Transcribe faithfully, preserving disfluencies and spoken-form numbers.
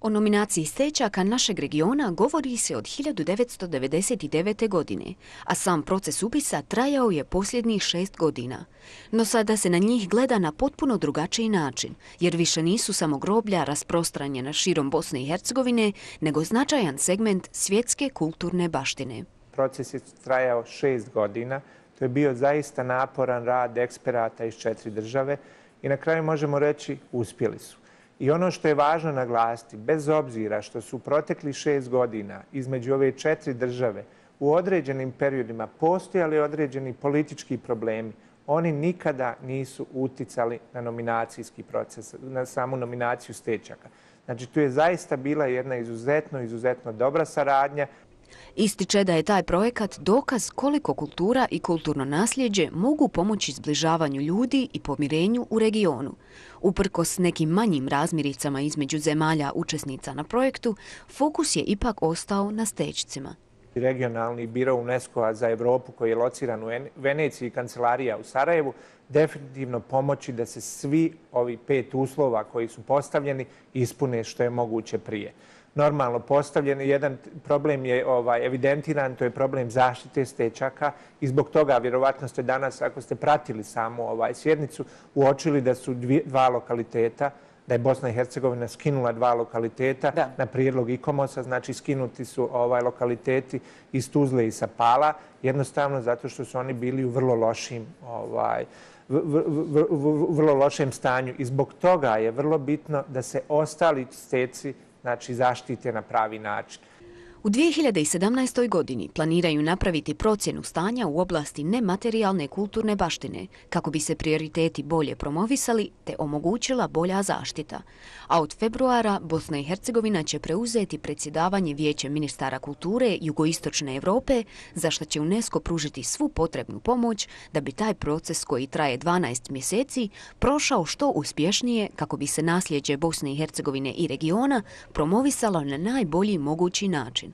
O nominaciji Stečaka našeg regiona govori se od hiljadu devetsto devedeset devete. godine, a sam proces upisa trajao je posljednjih šest godina. No sada se na njih gleda na potpuno drugačiji način, jer više nisu samo groblja rasprostranjena širom Bosne i Hercegovine, nego značajan segment svjetske kulturne baštine. Proces je trajao šest godina. To je bio zaista naporan rad eksperata iz četiri države i na kraju možemo reći uspjeli su. I ono što je važno naglasiti, bez obzira što su protekli šest godina između ove četiri države u određenim periodima postojali određeni politički problemi, oni nikada nisu uticali na nominacijski proces, na samu nominaciju Stečaka. Znači, tu je zaista bila jedna izuzetno, izuzetno dobra saradnja. Ističe da je taj projekat dokaz koliko kultura i kulturno nasljeđe mogu pomoći zbližavanju ljudi i pomirenju u regionu. Uprkos nekim manjim razmiricama između zemalja učesnica na projektu, fokus je ipak ostao na Stečcima. Regionalni biro UNESCO-a za Evropu koji je lociran u Veneciji i kancelarija u Sarajevu definitivno pomoći da se svi ovi pet uslova koji su postavljeni ispune što je moguće prije. Normalno postavljen. Jedan problem je ovaj, evidentiran, to je problem zaštite Stečaka i zbog toga vjerovatno ste danas, ako ste pratili samu ovaj, sjednicu, uočili da su dvije, dva lokaliteta, da je Bosna i Hercegovina skinula dva lokaliteta da. na prijedlog ICOMOS-a, znači skinuti su ovaj, lokaliteti iz Tuzle i Sapala, jednostavno zato što su oni bili u vrlo lošim ovaj, v, v, v, v, vrlo lošem stanju i zbog toga je vrlo bitno da se ostali steci znači zaštite na pravi način. U dvije hiljade sedamnaestoj. godini planiraju napraviti procjenu stanja u oblasti nematerijalne kulturne baštine kako bi se prioriteti bolje promovisali te omogućila bolja zaštita. A od februara Bosna i Hercegovina će preuzeti predsjedavanje Vijećem ministara kulture Jugoistočne Europe, za što će UNESCO pružiti svu potrebnu pomoć da bi taj proces koji traje dvanaest mjeseci prošao što uspješnije kako bi se nasljeđe Bosne i Hercegovine i regiona promovisalo na najbolji mogući način.